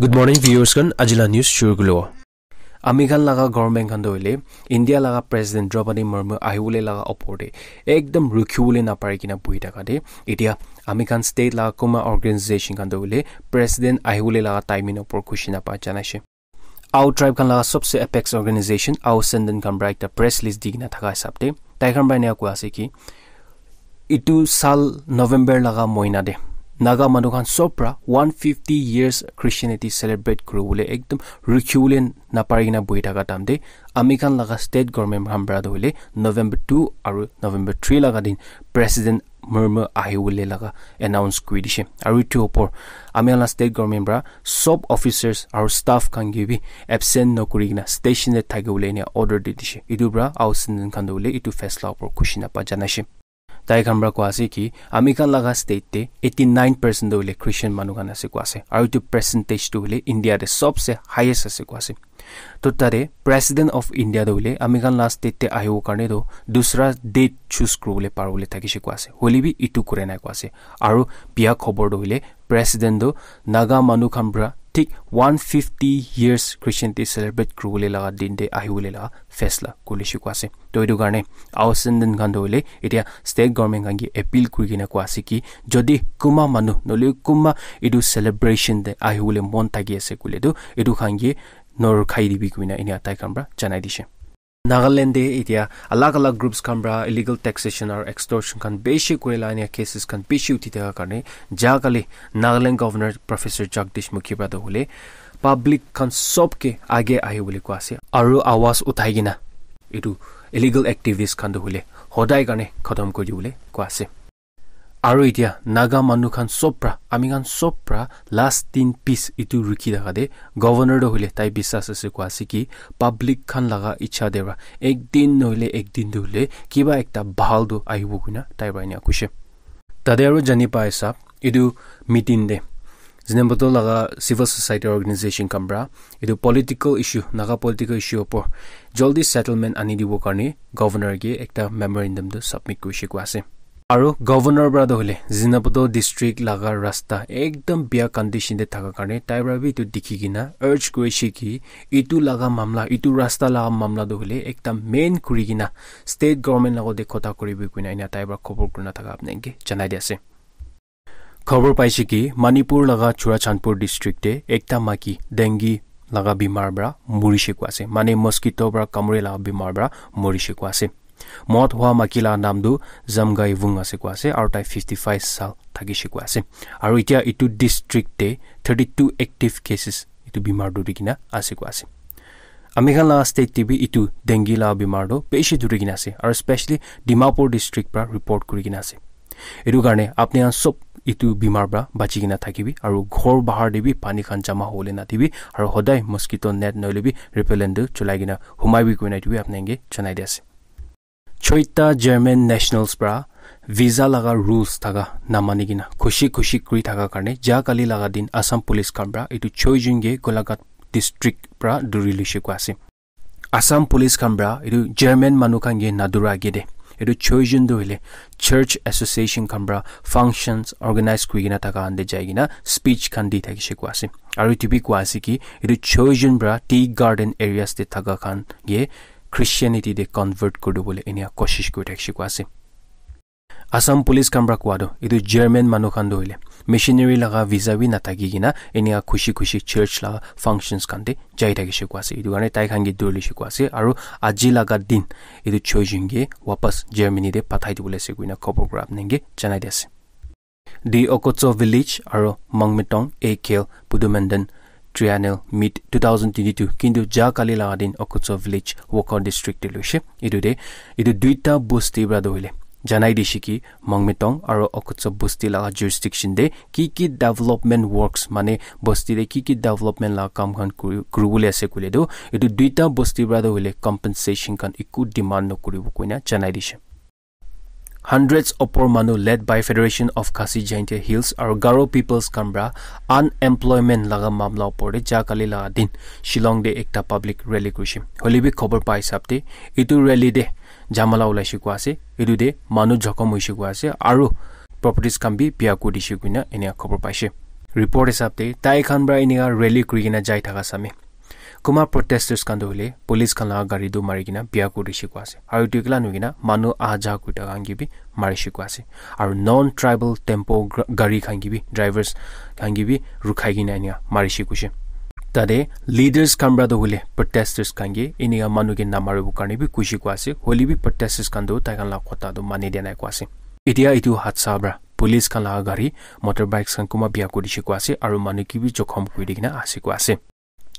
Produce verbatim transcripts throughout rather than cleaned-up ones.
Good morning, viewers khan. Ajila news shuru kulo. Ami khan laga government khan toh hoile India laga President Draupadi Murmu ahibole laga opor te ekdam rukhiwole napari kena buhi thaka te, etia ami khan state laga kuma organization khan toh hoile President ahibole laga timing opor khushi napa janaishe. Ao tribe khan laga sobse apex organization Ao Senden khan pra ekta press release di kena thaka hisab te tai khan pra eneka koa ase ki, itu sal November laga mohina te Naga manu khan sob pra one fifty years Christianity celebrate kuribole ekdam rukhiwole napari kena buhi thaka time te ami khan laga state government khan pra toh hoile November two aru November three laga din President Murmu ahibole laga announce kuri dishe. Aru itu opor ami khan la state government pra sob officers aru staff khan ke bi absent nokuri kena station te thakibole enia order di dishe. Itu pra Ao Senden khan toh hoile itu faisla opor khushi napa janaishe. Tai khan pra koa ase ki ami khan laga state te eighty nine percent toh hoile Christian manu khan ase koa ase. Aru itu percentage toh hoile India te sobse highest ase koa ase. To tate President of India toh hoile ami khan la state te ahibo karne toh dusra date choose kuribole paribole thakishe koa ase. Hoile bi itu kure nai koa ase. Aru bia khobor toh hoile President toh Naga manu khan pra thik one fifty years Christianity celebrate kuribole laga din te ahibole laga faisla kurishe koa ase. To itu karne Ao Senden khan toh hoile etia state government khan ke appeal kuri kena koa ase ki jodi kuma manu nohole kuma itu celebration te ahibole mon thaki ase koile toh itu khan ke norkhai dibi koina enia tai khan pra janai dishe. Nagaland te etia alag alag groups khan pra illegal taxation aru extortion khan bishi kuri la enia cases khan bishi uthi thaka karne ja kali Nagaland Governor Professor Jagdish Mukhi pra toh hoile public khan sob ke age ahibole koa ase aru awaz uthai kena itu illegal activities khan toh hoile hodai karne khatam kuri dibole koa ase. Aru etia Naga manu khan sob pra ami khan sob pra last tin piece itu rukhi thaka te governor toh hoile tai bisas ase koa ase ki public khan laga icha te pra ek din nohole ek din toh hoile kiba ekta bhal toh ahibo koina tai pra enia koishe. Tate aru jani pai sab itu meeting te Zunheboto laga civil society organization khan pra itu political issue, Naga political issue opor jaldi settlement ani dibo karne governor ke ekta memorandum toh submit kurishe koa ase. Aru governor pra toh hoile Zunheboto district laga rasta ekdam bia condition te thaka karne tai pra bi itu dikhi kena urge kurishe ki itu laga mamla, itu rasta laga mamla toh hoile ekta main kuri kena state government logot te khota kuribi koina enia tai pra khobor kurina thaka apni ke janai di ase. Khobor paishe ki Manipur laga Churachandpur district te ekta maki dengue laga bimar pra murishe koa ase. Mane mosquito pra kamure laga bimar pra murishe koa ase. Mot hua maki laga naam tu Zamgai Vung ase koa ase aru tai fifty five saal thakishe koa ase. Aru etia itu district te thirty two active cases itu bimar dhuri kena ase koa ase. Ami khan laga state te bi itu dengue laga bimar toh bishi dhuri kena ase aru specially Dimapur district pra report kuri kena ase. Itu karne apni khan sob itu bimar pra bachi kena thakibi aru ghor bahar te bi pani khan jama hobole nadibi aru hodai mosquito net nohole bi repellent toh cholai kena humaibi koina itu bi apni khan ke janai di ase. Choita German nationals pra visa laga rules thaka namani kena khushi khushi kuri thaka karne ja kali laga din Assam police khan pra itu choi jun ke Golaghat district pra dhuri luishe koa ase. Assam police khan pra itu German manu khan ke nadura age te itu choi jun toh hoile church association khan pra functions organize kuri kena thaka khan te jai kena speech khan di thakishe koa ase. Aru itu bi koa ase ki itu choi jun pra tea garden areas te thaka khan ke Christianity te convert kuri dibole enia koshish kuri thakishe koa ase. Assam police khan pra koa toh itu German manu khan toh hoile missionary laga visa bi nathaki kena enia khushi khushi church laga functions khan te jai thakishe koa ase. Itu karne tai khan ke dhuri luishe koa ase aru aji laga din itu choi jun ke wapas Germany te pathai dibole ase koina khobor pra apni khan ke janai di ase. The Okotso village aru Mangmitong A K L Pudumandan Triennial Meet two thousand twenty-two kintu ja kali laga din Okotso village Wokha district te luishe. Itu te itu duita bosti pra toh hoile janai dishe ki Mangmitong aru Okotso bosti laga jurisdiction te ki ki development works mane bosti te ki ki development laga kam khan kuri kuribole ase koile toh itu duita bosti pra toh hoile compensation khan eku demand nokuribo koina janai dishe. Hundreds opor manu led by Federation of Khasi Jaintia Hills aru Garo Peoples khan pra unemployment laga mamla opor te ja kali laga din Shillong te ekta public rally kurishe. Hoile bi khobor pa hisab te itu rally te jamala ulaishe koa ase, itu te manu jokhom hoishe koa ase aru properties khan bi biya kuri dishe koina enia khobor paishe. Report hisab te tai khan para enika rally kuri kena jai thaka same. Kuma protesters khan tu hoile police khan laga gari tu mari kena bia kuri dishi koi ase. Aru etu ekla nohoi kena manu aha ja kuri thaka khan ke bi mari dishi koi ase. Aru non tribal tempo gra- gari khan ke bi drivers khan ke bi rukhai kena enika mari dishi koise. Tate leaders khan para tu hoile protesters khan ke enika manu ke namaribo karne bi koi dishi koi ase. Hoile bi protesters khan tu tai khan laga kotha tu mani dia nai koi ase. Etia etu hadsa para police khan laga gari, motorbikes khan kuma bia kuri dishi koi ase aru manu ke bi jokhom kuri di kena ase koi ase.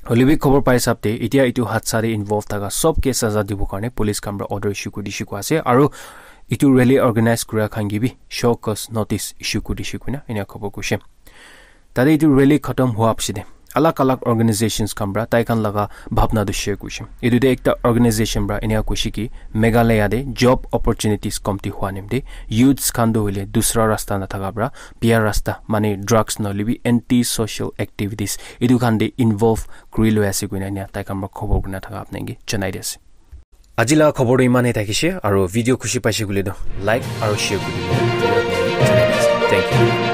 Hoile bi khobor pai hisab te etia etu hadsa te involve thaka sob ke saza dibo karne police khan para order issue kuri dishi koi ase aru etu rally organize kura khan ke bi show cause notice issue kuri dishi koina enika khobor koise. Tate etu rally khatam hua piche te alag alag organizations khan para tai khan laga bhabna tu share koise. Etu te ekta organization para enika koise ki Meghalaya te job opportunities komti hua nimite youths khan tu hoile dusra rasta nathaka para bia rasta mane drugs nohoile bi anti social activities etu khan te involve kuri loi ase koina enika tai khan para khobor kurina thaka apni ke janai di ase. Aji laga khobor tu iman he thakise aru video khushi paise koile tu like aru share kuri dibo. Thank you.